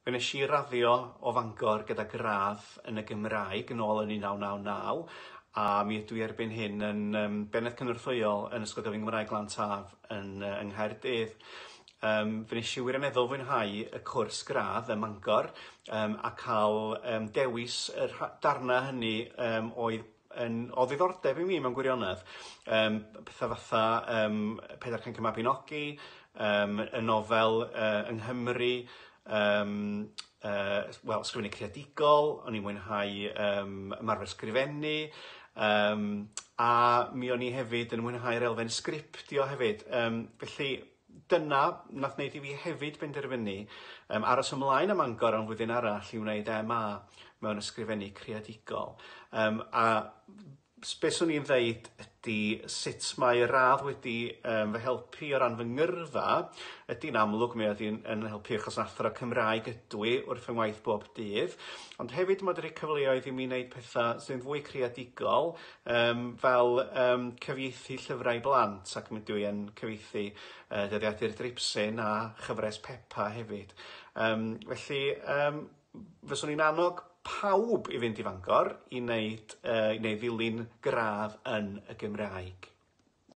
Fe wnes i raddio o Fangor gyda gradd yn y Gymraeg yn ôl yn 1999 a mi ydw i erbyn hyn yn yym Bennaeth Cynorthwyol yn Ysgol Gyfun Gymraeg Glan Taf yn yy yng Nghaerdydd. Yym fe wnes i wirioneddol fwynhau y cwrs gradd ym Mangor yym a cael yym dewis y rha- darna hynny yym oedd yn o ddiddordeb i mi mewn gwirionedd. Yym petha fatha yym Pedair Cainc y Mabinogi, yym y nofel yy yng Nghymru, yym yy wel sgwennu creadigol, o'n i'n mwynhau yym ymarfer sgrifennu, yym a mi o'n i hefyd yn mwynhau'r elfen sgriptio hefyd. Yym felly dyna nath wneud i fi hefyd benderfynu yym aros ymlaen ym Mangor am flwyddyn arall i wneud MA mewn ysgrifennu creadigol. Yym a be swn i'n ddeud ydy sut mae y radd wedi yym fy helpu o ran fy ngyrfa ydy'n amlwg mi oedd hi'n yn helpu achos athro Cymraeg ydw i wrth fy ngwaith bob dydd, ond hefyd mae 'di rhoi cyfleoedd i mi wneud pethau sy'n fwy creadigol yym fel yym cyfieithu llyfrau i blant ac mi ydw i yn cyfieithu yy Dyddiadur Dripsyn a chyfres Peppa hefyd. Yym felly yym fyswn i'n annog pawb i fynd i Fangor i wneud yy neu ddilyn gradd yn y Gymraeg.